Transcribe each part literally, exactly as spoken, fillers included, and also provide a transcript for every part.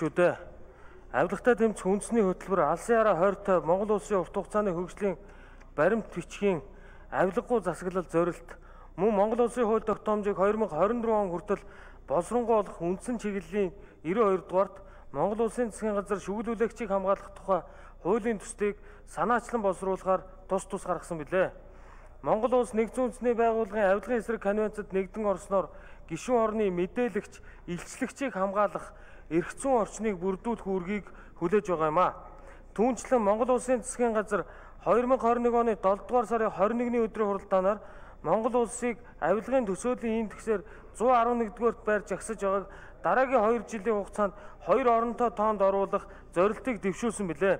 Чүдэ авилгатай тэмцэх үндэсний хөтөлбөр алсын хараа хойртой Монгол улсын урт хугацааны хөгжлийн баримт бичгийн авилгагүй засаглал зорилт мөн Монгол улсын хууль тогтоомжийг хоёр мянга хорин дөрвөн он хүртэл боловсронгуй болох үндсэн чиглэлийн девяткей дугаарт Монгол улсын засгийн газар шүглүүлэгчийг хамгаалах тухай хуулийн төслийг санаачлан боловсруулахаар тус тус гаргасан билээ. Монгол улс нэгдсэн үндэсний байгууллагын авилгын эсрэг конвенцэд нэгдэн орсноор гишүүн орны мэдээлэгч, илчлэгчийг хамгаалах эрх зүйн орчныг бүрдүүлэх үүргийг хүлээж байгаа юм а. Түүнчлэн Монгол улсын засгийн газар хоёр мянга хорин нэг оны долоо дугаар сарын хорин нэгний өдрийн хуралдаанаар Монгол улсыг авилгын төсөөлийн индексээр зуун арван нэгдүгээрт байр жагсаж байгааг дараагийн хоёр жилийн хугацаанд хоёр оронтой тоонд оруулах зорилтыг дэвшүүлсэн билээ.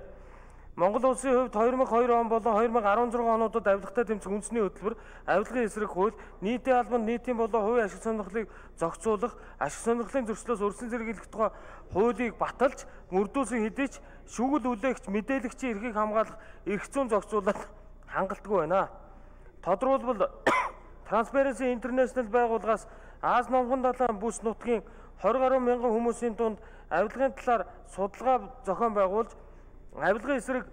Монгол улсын хувьд хоёр мянга хоёр он болон хоёр мянга арван зургаан онуудад авилгатай тэмцэх үндэсний хөтөлбөр авилгын эсрэг хууль, нийтийн албанд нийтийн болон хувийн ашиг сонирхлыг зохицуулах, ашиг сонирхлын зөрчлөөс өрсөн зэрэглэх тухай хуулийг баталж, мөрдүүлсэн хэдий ч шүүгэл үлээгч, мэдээлэгчийн эрхийг хамгаалах эрх зүйн зохицуулалт хангалтгүй байна. Тодорхойлбол Transparency International байгууллагаас Аз номхон далайн бүс нутгийн двадцать гаруй мянган хүмүүсийн дунд авилгын талаар судалгаа зохион байгуулж авилгын эсрэг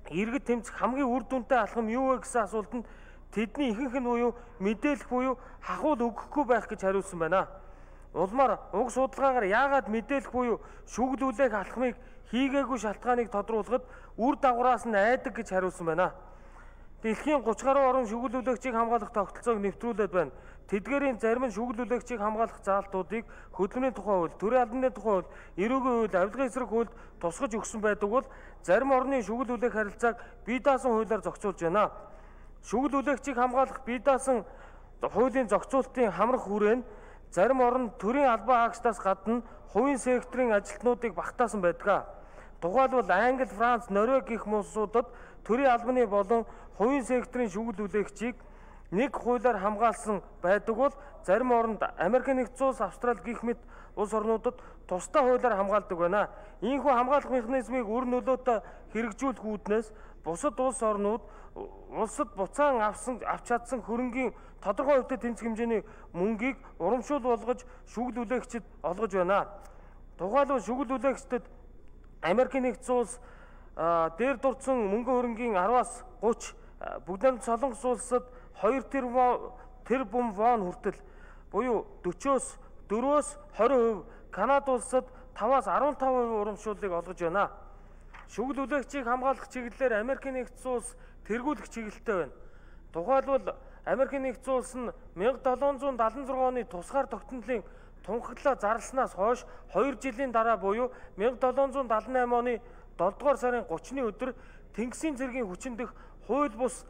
иргэд тэмцэх хамгийн үр дүнтэй алхам юу вэ гэсэн асуултанд тэдний ихэнх нь буюу мэдээлэх буюу хахуул өгөхгүй байх гэж хариулсан байна. Улмаар уг судалгаагаар яагаад мэдээлэх буюу шүүгдүүлэх алхмыг хийгээгүй шалтгааныг тодруулахад үр дагавраас нь айдаг гэж хариулсан байна. Дэлхийн гуравч гаруй орн шүүгдүүлэгчийг хамгаалах тогтолцоог нэвтрүүлээд байна. Тэдгээрийн зарим нь шүүгдүүлэгчийг хамгаалах заалтуудыг хөдөлмөрийн тухай хууль, төрийн албаны тухай хууль, эрүүгийн хууль, авилгын эсрэг хуульд тусгаж өгсөн байдаг бол зарим орны шүүгдүүлэх харилцааг бие даасан хуулиар зохицуулж байна. Шүүгдүүлэгчийг хамгаалах бие даасан хуулийн зохицуултын хамрах хүрээ нь зарим орн төрийн албан хаагчдаас гадна хувийн секторын ажилтнуудыг багтаасан байдаг. Тухайлбал Англи, Франц, Норвеги гэх улсуудад төрийн албаны болон хувийн секторын шүүгдүүлэгчийг нэг хуулиар хамгаалсан байдаг бол зарим оронд Америк нэгдсэн улс, Австрали гэх мэт улс орнуудад тусдаа хуулиар хамгаалдаг байна. Ийхүү хамгаалах механизмыг үр нөлөөтэй хэрэгжүүлэх үүднээс бусад улс орнууд улсад буцаан авсан авч чадсан хөрөнгийн тодорхой хувьтай тэнцэх хэмжээний мөнгийг урамшуул болгож шүүгдүүлэгчид олгож байна. Тухайлбал шүүгдүүлэгчдэд Америк нэгдсэн улс дээр дурдсан мөнгө хөрөнгийн араваас гуравч бүгд Солонгос улсад хоёр тэрбум вон хүртэл буюу дөрвөөс дөрвөөс хорин хувь, Канада улсад таваас арван тав хувь урамшууллыг олгож байна. Шүүгдүүлэгчийг хамгаалах чиглэлээр Америк нэгдсэн улс тэргүүлэх чиглэлтэй байна. Тухайлбал Америк нэгдсэн улс нь мянга долоон зуун дагалдаа зургаан оны тусгаар тогтнолын тунхаглаа зарлснаас хойш хоёр жилийн дараа буюу мянга долоон зуун дагалдаа найман оны долоо дугаар сарын гуравчны өдөр Тэнгисийн цэргийн хүчин дэх хууль бус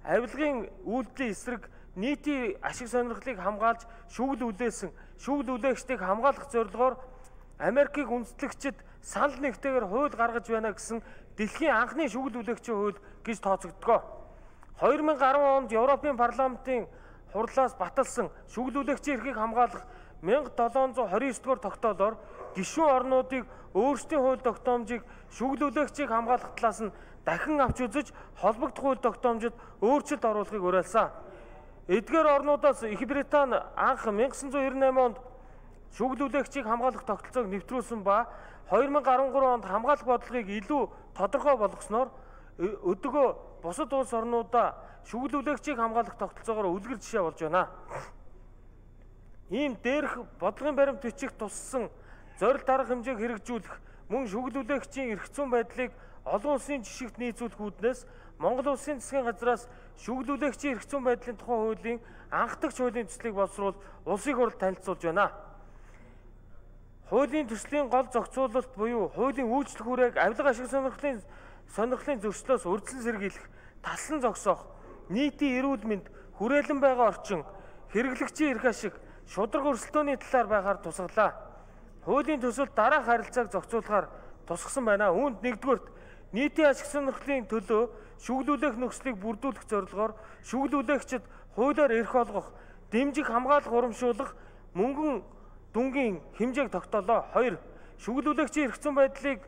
авилгын үйлдэлийн эсрэг нийтийн ашиг сонирхлыг хамгаалж шүүгэл үлээсэн шүүгэл үлээгчдийг хамгаалах зорилгоор Америкийг үндэслэгчид санал нэгтэйгээр хууль гаргаж байна гэсэн дэлхийн анхны шүүгэл үлээгчийн хууль гэж тооцогддог. хоёр мянга арван онд Европын парламентын хурлаас баталсан шүүгэл үлээгчийн эрхийг хамгаалах мянга долоон зуун хорин девять дугаар тогтоолоор гишүүн орнуудыг өөрсдийн хууль тогтоомжийг шүүгэл үлээгчийг хамгаалах талаас нь дахин авч үзэж холбогдох хууль тогтоомжид өөрчлөлт оруулахыг уриалсан. Эдгээр орнуудаас Их Британи анх мянга девятьсот девяносто восемь онд шүүгэл үлээгчийг хамгаалах тогтолцоог нэвтрүүлсэн ба хоёр мянга арван гурван онд хамгаалах бодлогыг илүү тодорхой болгосноор өдөгөө бусад улс орнуудаа шүүгэл үлээгчийг хамгаалах тогтолцоогоор үлгэр жишээ болж байна. Ийм дээрх бодлогын баримт бичих туссан зорилт арга хэмжээг хэрэгжүүлэх мөн шүүгэл үлээгчийн эрх зүйн байдлыг олон улсын жишгт нийцүүлэх үүднээс Монгол улсын засгийн газраас шүүгэл үлээгчийн эрх зүйн байдлын тухай хуулийн анхдагч хуулийн төслийг боловсруул улсын хурлд танилцуулж байна. Хуулийн төслийн гол зохицуулалт буюу хуулийн үйлчлэх хүрээг авилга ашиг сонирхлын сонирхлын зөрчлөөс үрдсэн сэргийлэх, таслан зогсоох, нийтийн эрүүл мэнд, хүрээлэн байгаа орчин, хэрэглэгчийн эрх ашиг, шударга өрсөлдөөний талаар байхаар тусгалаа. Хуулийн төсөлд дараах харилцааг зохицуулахаар тусгасан байна. Үүнд нэгдүгээрт нийтийн ашиг сонирхлын төлөө шүүгдүүлэх нөхцөлийг бүрдүүлэх зорилгоор шүүгдүүлэгчид хуулиар эрх олгох, дэмжих, хамгаалах, урамшуулах мөнгөн дүнгийн хэмжээг тогтоолоо. Хоёр, шүүгдүүлэгчийн эрх зүйн байдлыг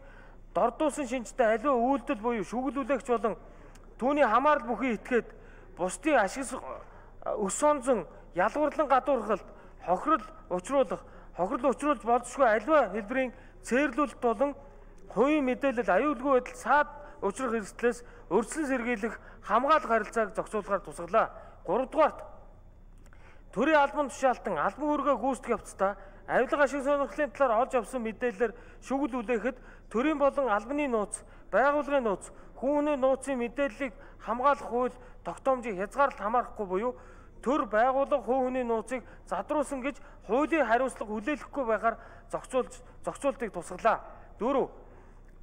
дордуулсан шинжтэй аливаа үйлдэл буюу шүүгдүүлэгч болон түүний хамаарал бүхий этгээд бусдын ашиг өс сонзон ялгуурлан гадуурхалт, хохирол учруулах, хохирол учруулж болзошгүй аливаа хэлбэрийн цээрлүүлэлт болон хувийн мэдээлэл аюулгүй байдал саад учрах эрсдлээс өрсөлдөн сэргийлэх хамгаалах харилцааг зохицуулахаар тусгалаа. гуравдугаарт төрийн албан тушаалтан албан үүргээ гүйцэтгэх явцдаа авилга ашиг сонирхлын талаар олж авсан мэдээлэлээр шүгэл үлээхэд төрийн болон албаны нууц, байгууллагын нууц, хүн хүний нууцын мэдээллийг хамгаалах хууль тогтоомжийг хязгаарлалт хамаарахгүй буюу төр байгууллага хүн хүний нууцыг задруулсан гэж хуулийн хариуцлага хүлээлгэхгүй байхаар зохицуулж зохицуултыг тусгалаа. дөрөв.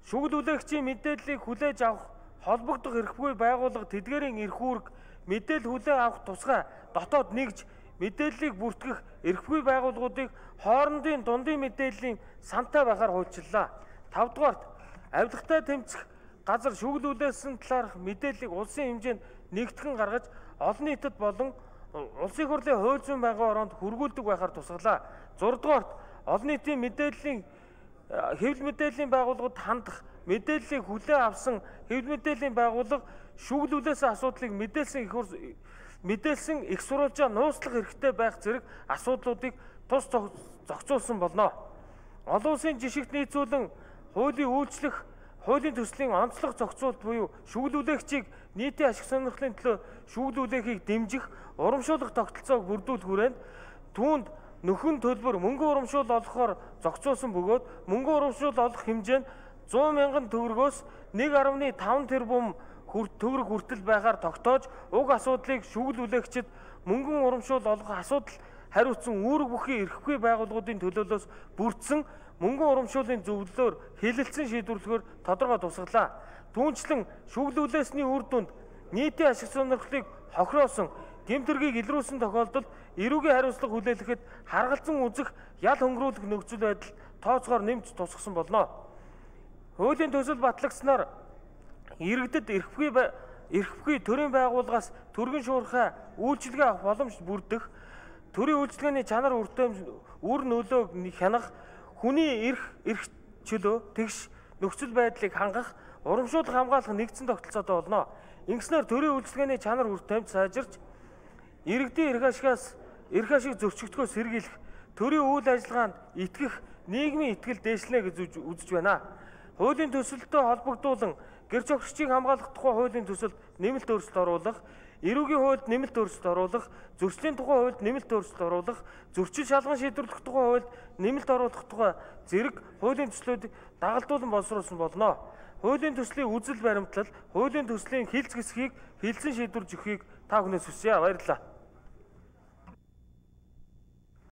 Шүгэл үлээгчийн мэдээллийг хүлээж авах холбогдох эрхгүй байгууллага тэдгээрийн эрх үүрэг мэдээлэл хүлээн авах тусгай дотоод нэгж мэдээллийг бүртгэх эрхгүй байгууллагуудыг хоорондын дундын мэдээллийн сантай байхаар хуульчлалаа. тавдугаарт авилгатай тэмцэх газар шүгэл үлээсэн талаарх мэдээллийг улсын хэмжээнд нэгтгэн гаргаж олон нийтэд болон улсын хурлын хууль зүйн байгууллагын ороонд хүргүүлдэг байхаар тусгалаа. зургаадугаарт олон нийтийн мэдээллийн хэвлэл мэдээллийн байгууллагууд хандах мэдээллийг хүлээн авсан хэвлэл мэдээллийн байгууллага шүгэл үлээсэн асуудлыг мэдээлсэн их мэдээлсэн их сурвалжаа нууцлах хэрэгтэй байх зэрэг асуудлуудыг тус зохицуулсан болно. Олон улсын жишгт нийцүүлэн хуулийн үйлчлэх, хуулийн төслийн онцлог зохицуулт буюу шүгэл үлээгчийг нийтийн ашиг сонирхлын төлөө шүгэл үлээхийг дэмжих, урамшуулах тогтолцоог бүрдүүлэх хүрээнд түүнд нөхөн төлбөр мөнгө урамшуул олохоор зохицуулсан бөгөөд мөнгө урамшуул олох хэмжээ нь зуун мянган төгрөгөөс нэг гаруй таван тэрбум төгрөг хүртэл байхаар тогтоож уг асуудлыг шүгэл үлээгчид мөнгөн урамшуул олох асуудал хариуцсан үүрэг бүхий эрхгүй байгууллагуудын төлөөлөөс бүрдсэн мөнгөн урамшууллын зөвлөлөөр хэлэлцэн шийдвэрлэхээр тодорхой тусгалаа. Түүнчлэн шүгэл үлээсний үр дүнд нийтийн ашиг сонирхлыг хохироосон гэмтэргийг илрүүлсэн тохиолдолд эрүүгийн хариуцлага хүлээлгэхэд харгалзан үзэх ял хөнгөрүүлэх нөхцөл байдал тооцоогоор нэмж тусгасан болно. Хуулийн төсөл батлагдсанаар иргэдэд эрхгүй эрхгүй төрийн байгууллагаас төргийн шуурхай үйлчилгээ авах боломж бүрдэх, төрийн үйлчилгээний чанар үртэм үр нөлөөг хянах, хүний эрх эрх чөлөө тэгш нөхцөл байдлыг хангах, урамшуулах хамгаалах нэгдсэн тогтолцоотой болно. Ингэснээр төрийн үйлчилгээний чанар үртэмж сайжирч иргэдийн эрх ашигаас эрх ашиг зөрчигдөхөөс сэргийлэх, төрийн үйл ажиллагаанд итгэх нийгмийн итгэл дээшлэнэ гэж үзэж байна. Хуулийн төсөлтөд холбогдуулан гэр зохирчийг хамгаалах тухай хуулийн төсөлд нэмэлт өөрчлөлт оруулах, эрүүгийн хуульд нэмэлт өөрчлөлт оруулах, зөрчлийн тухай хуульд нэмэлт өөрчлөлт оруулах, зөрчил шалган шийдвэрлэх тухай хуульд нэмэлт оруулах тухай зэрэг хуулийн төслүүдийг дагалдуулан боловсруулсан болно. Хуулийн төслийн үзэл баримтлал, хуулийн төслийн хилц хэсгийг хилцэн шийдвэрлэж өгөхийг та бүхнээс хүсье. Баярлалаа.